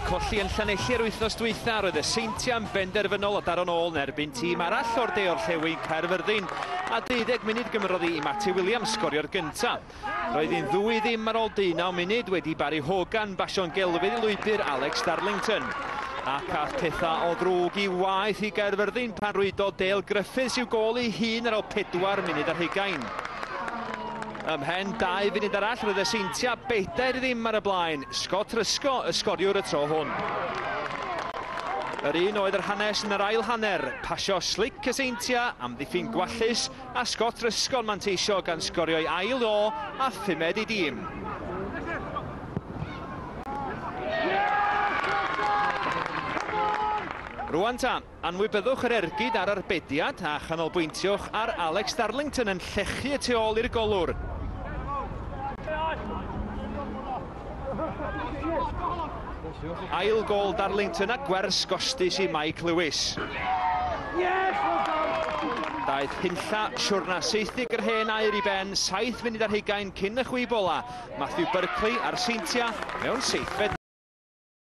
colli yn Llanelli yr wythnos dwytha, roedd y Seintiau'n benderfynol o daro'n ôl yn erbyn tîm arall o'r de orllewin Caerfyrddin, a 12 munud gymrodd hi i Matty Williams sgorio'r gynta. Roedd hi'n ddwy ddim ar ôl 19 munud wedi Barry Hogan basio'n gelfydd i lwybr Alex Darlington. Ac ath pethau o ddrwg i waeth i Gaerfyrddin pan rwydodd Dale Griffiths i'w gôl ei hun ar ôl 4 munud ar hugain. Ymhen 2 funud arall roedd y Seintiau 4-0 ar y blaen, Scott Rysco y sgoriwr y tro hwn. Yr un oedd yr hanes yn yr ail hanner, pasio slic y Seintiau, amddiffyn gwallus a Scott Rysco'n manteisio gan sgorio'i ail o a phumed i dîm. Rwan ta, anwybyddwch yr ergyd ar arbediad a chanolbwyntiwch ar Alex Darlington yn llechu y tu ôl i'r golwr. Ail gôl Darlington a gwers gostus i Mike Lewis. Daeth hunlla siwrna 70 yr hen aur i ben 7 munud ar hugain cyn y chwib ola. Matthew Berkeley a'r Seintiau mewn seithfed.